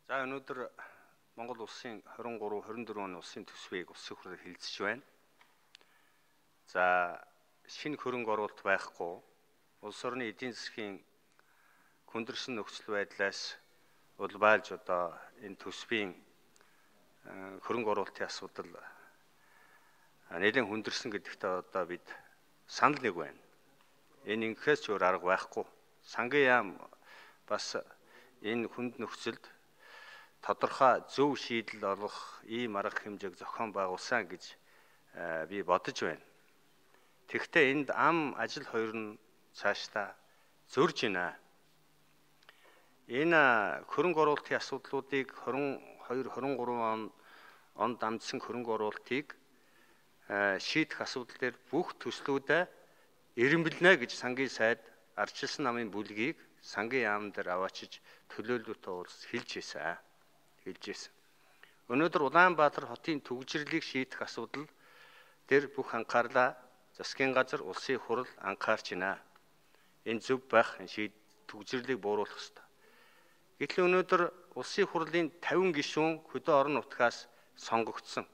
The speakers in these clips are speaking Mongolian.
За өнөөдөр Монгол улсын 23-24 оны улсын төсвийг улсын хурлаар хэлэлцэж байна. За шинэ хөрөнгө оруулалт байхгүй улс орны эдийн засгийн хүндэрсэн нөхцөл байдлаас улбайлж одоо энэ төсвийн хөрөнгө оруулалтын асуудал нэлээд хүндэрсэн гэдэгтээ одоо бид санал нэг байна. Энэ ингэхээс ч өөр арга байхгүй. Сангийн яам бас энэ хүнд нөхцөлд тодорхой зөв шийдэл олгох ийм арга хэмжээг зохион байгуулсан гэж би бодож байна. Тэгэхдээ энд ам ажил хоёр нь цаашдаа зөрж байна. Энэ хөрөнгө оруулалтын асуудлуудыг 22-23 онд дамжсан хөрөнгө оруулалтыг шийдэх асуудал дээр бүх төслүүдэд эренбэлнэ гэж сангийн сайд ардчилсан намын бүлгийг сангийн яам дээр аваачиж төлөөлөлтөд уулз хэлж ийсэн. Өнөөдөр Улаанбаатар хотын төгжрлийг шийдэх асуудал дээр бүх анхаарлаа засгийн газар, улсын хурал анхаарч байна. Энэ зөв байх төгжрлийг бууруулах ёстой. Гэтэл өнөөдөр улсын хурлын 50 гишүүн хөдөө орон нутгаас сонгогдсон.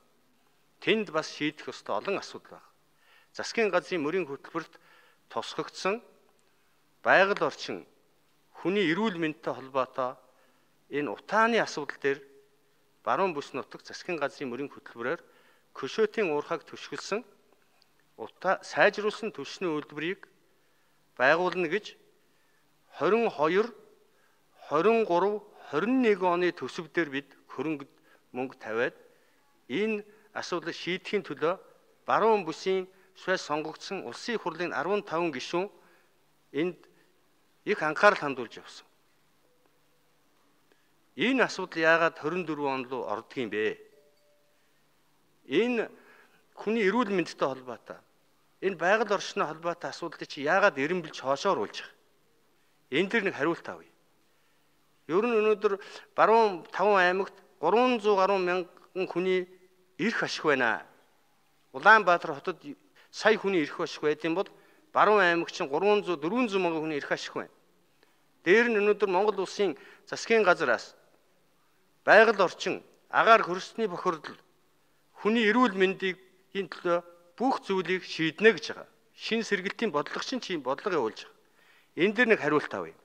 Тэнд бас шийдэх ёстой олон асуудал байна. Засгийн газрын мөрийн хөтөлбөрт тусгагдсан байгаль орчин, хүний эрүүл мэндтэй холбоотой энэ утааны асуудал дээр баруун бүс нутагт засгийн газрын мөрийн хөтөлбөрөөр Көшөөтийн уурхайг төшгөлсөн сайжруулсан түвшний үйлдвэрийг байгуулна гэж 22, 23, 21 оны төсөвдөр бид хөрөнгө мөнгө тавиад энэ асуудлыг шийдэхийн төлөө баруун бүсийн швейц сонгогдсон улсын хурлын 15 гишүүн энд их анхаарал хандуулж явсан. Энэ асуудал яагаад 24 он руу ордгийм бэ? Энэ хүний эрүүл мэндтэй холбоотой. Энэ байгаль орчны холбоотой асуудлыг чи яагаад эренбэлж хоошоо оруулж байгаа? Энэ дэр нэг хариулт авъя. Ер нь өнөөдөр баруун 5 аймагт 300 гаруй мянган хүний эрх ашиг байна. Улаанбаатар хотод сая хүний эрх ашиг байдсан бол баруун аймагт чинь 300 400 мянган хүний эрх ашиг байна. Дээр нь өнөөдөр Монгол улсын засгийн газраас байгаль орчин, агаар хөрсний бохирдол, хүний эрүүл мэндийн төлөө бүх зүйлийг шийднэ гэж байгаа. Шин сэргэлтийн бодлогочин чи бодлого явуулж байгаа. Энэ дэр нэг хариулт авъя.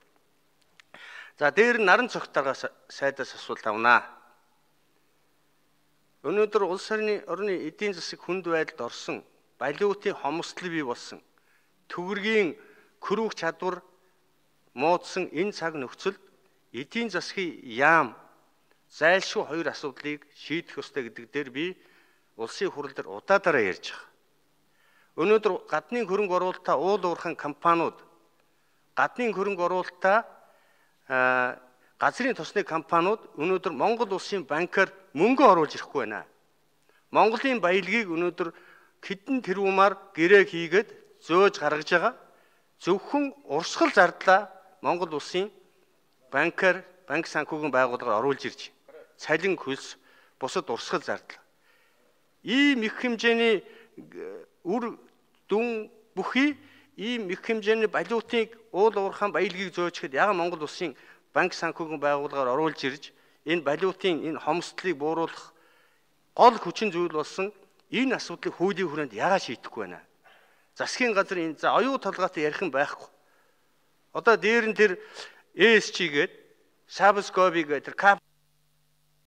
За дээр нь наран цогтойгоос сайдаас асуулт авнаа. Өнөөдөр улс орны эдийн засаг хүнд байдалд орсон, балиутын хомсдол бий болсон, төгрөгийн хөрвөх чадвар муудсан энэ цаг нөхцөлд эдийн засгийн яам зайлшгүй хоёр асуудлыг шийдэх ёстой гэдэг дээр би улсын хурал дээр удаадараа ярьж байгаа. Өнөөдөр гадны хөрөнгө оруулалтаа уул уурхайн компаниуд, гадны хөрөнгө оруулалтаа газрын тосны компаниуд өнөөдөр Монгол улсын банкар мөнгө оруулж ирэхгүй байна. Монголын баялагийг өнөөдөр хэдэн тэрбумаар гэрээ хийгээд зөөж гаргаж байгаа. Зөвхөн урсгал зардлаа Монгол улсын банкар, банк санхүүгийн байгууллагаар оруулж ирж цалин хөлс бусад урсгал зардал. Ийм их хэмжээний үр дүн бүхий ийм их хэмжээний балиутыг уул уурхайн баялагийг зөөчгээд яагаад Монгол улсын банк санхүүгийн байгууллагаар оруулж ирж энэ балиутын энэ хомсдлыг бууруулах гол хүчин зүйл болсон энэ асуудлыг хуулийн хүрээнд яагаад шийдэхгүй байна? Засгийн газар энэ за оюу толгойтой ярих юм байхгүй. Одоо дээр нь тэр ESG гээд Сабскоби гээд тэр